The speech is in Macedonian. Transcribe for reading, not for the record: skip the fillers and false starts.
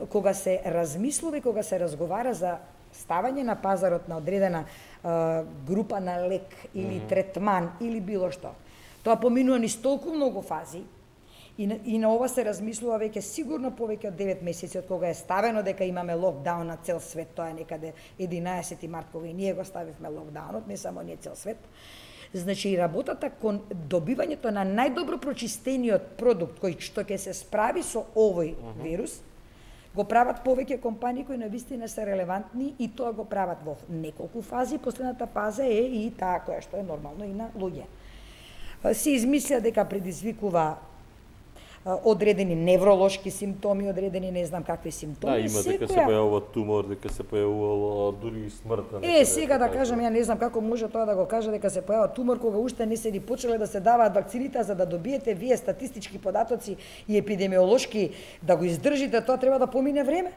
кога се размислува и кога се разговара за ставање на пазарот на одредена група на лек или третман или било што. Тоа поминува низ толку многу фази и на ова се размислува веќе сигурно повеќе од 9 месеци од кога е ставено дека имаме локдаун на цел свет, тоа е некаде 11 март кога и ние го ставивме локдаунот, не само ние, цел свет. Значи, работата кон добивањето на најдобро прочистениот продукт кој што ќе се справи со овој вирус, го прават повеќе компании кои навистина се релевантни и тоа го прават во неколку фази. Последната фаза е и таа која што е нормално и на луѓе. Се измисля дека предизвикува одредени невролошки симптоми, одредени не знам какви симптоми. Да, има дека се појавува тумор, дека се појавувало дури и смртта. Сега да кажам, ја не знам како може тоа да го каже дека се појавува тумор кога уште не се ни почеле да се даваат вакцините, за да добиете вие статистички податоци и епидемиолошки да го издржите, тоа треба да помине време.